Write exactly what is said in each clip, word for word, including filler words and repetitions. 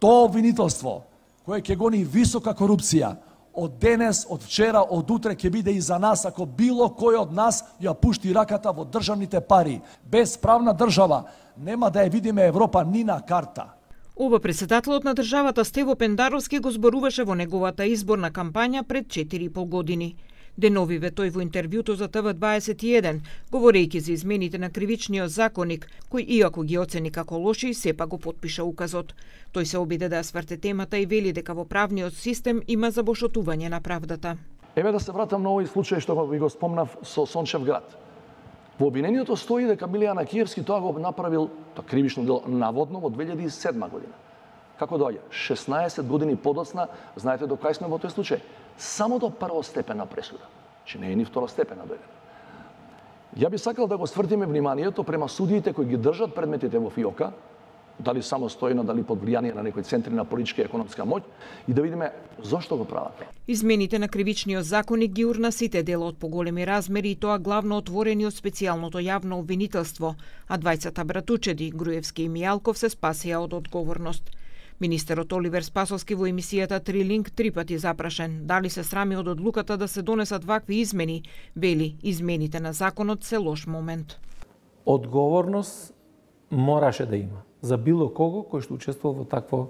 Тоа обвинителство, кое ќе гони висока корупција, од денес, од вчера, од утре ќе биде и за нас ако било кој од нас ја пушти раката во државните пари. Без правна држава нема да ја видиме Европа ни на карта. Ова претседателот на државата Стево Пендаровски го зборуваше во неговата изборна кампања пред четири и пол години. Деновиве тој во интервјуто за Т В дваесет и еден, говорејќи за измените на кривичниот законник, кој иако ги оцени како лоши, сепак го потпиша указот. Тој се обиде да ја сврте темата и вели дека во правниот систем има забошотување на правдата. Еве да се вратам на овој случај што ви го спомнав со Сончев град. Во обвинението стои дека Милијан Акиевски тоа го направил, тоа кривично дело, наводно во две илјади и седма година. Како доаѓа? шеснаесет години подоцна, знаете до кај сме во тој случај? Само до првостепена пресуда. Че не е ни второстепена дојдена. Ја би сакал да го свртиме вниманието према судиите кои ги држат предметите во ФИОКа, дали самостојно, дали под влијание на некои центри на политичка и економска моќ, и да видиме зошто го прават. Измените на кривичниот законник ги урна сите дела од поголеми размери и тоа главно отворени од специјалното јавно обвинителство, а двајцата братучеди, Груевски и Мијалков, се спасија од одговорност. Министерот Оливер Спасовски во емисијата Трилинг три пати запрашен дали се срами од одлуката да се донесат вакви измени, вели измените на законот се лош момент. Одговорност мораше да има за било кого кој што учествува во такво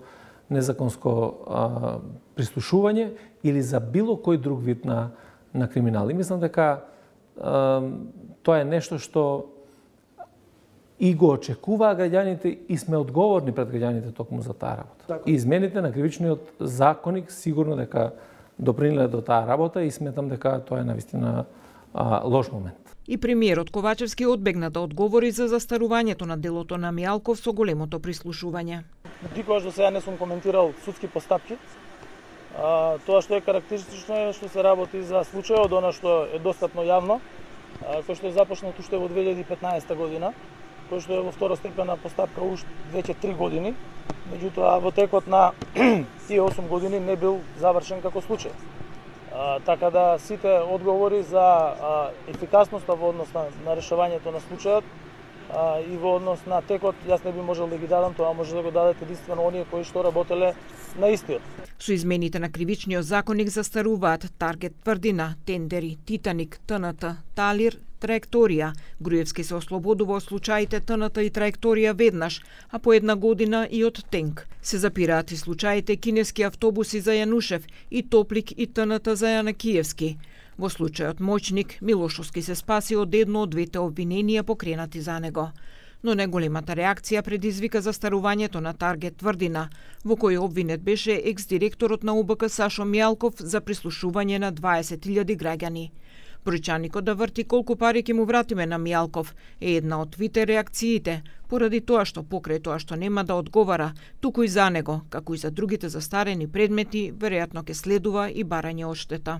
незаконско а, прислушување или за било кој друг вид на, на криминал. И мислам дека а, тоа е нешто што и го очекуваа граѓаните и сме одговорни пред граѓаните токму за таа работа. Так. И измените на кривичниот законник сигурно дека допринеле до таа работа и сметам дека тоа е навистина а, лош момент. И премиерот Ковачевски одбегна да одговори за застарувањето на делото на Мијалков со големото прислушување. Никогаш до сега не сум коментирал судски постапки. А, тоа што е карактеристично е што се работи за случајот, она што е достапно јавно, а, кој што е започнат уште во две илјади и петнаесета година, кој што е во второстепена постапка уште веќе три години, меѓутоа во текот на тие осум години не бил завршен како случај. А, така да сите одговори за а, ефикасноста во однос на, на решавањето на случајот а, и во однос на текот, јас не би можел да ги дадам, тоа може да го дадат единствено оние кои што работеле на истиот. Со измените на кривичниот законник застаруваат Таргет тврдина, Тендери, Титаник, Т Н Т, Талир, Траекторија. Груевски се ослободува од случаите Т Н Т и Траекторија веднаш, а по една година и од Тенк. Се запираат и случаите кинески автобуси за Јанушев и Топлик и Т Н Т за Јанакиевски. Во случајот Моќник, Милошовски се спаси од едно од двете обвиненија покренати за него. Но неголемата реакција предизвика застарувањето на Таргет тврдина, во кој обвинет беше екс-директорот на У Б К Сашо Мијалков за прислушување на дваесет илјади граѓани. Бројчаникот да врти колку пари ќе му вратиме на Мијалков е една од твите реакциите, поради тоа што покрај тоа што нема да одговара, туку и за него, како и за другите застарени предмети, веројатно ќе следува и барање одштета.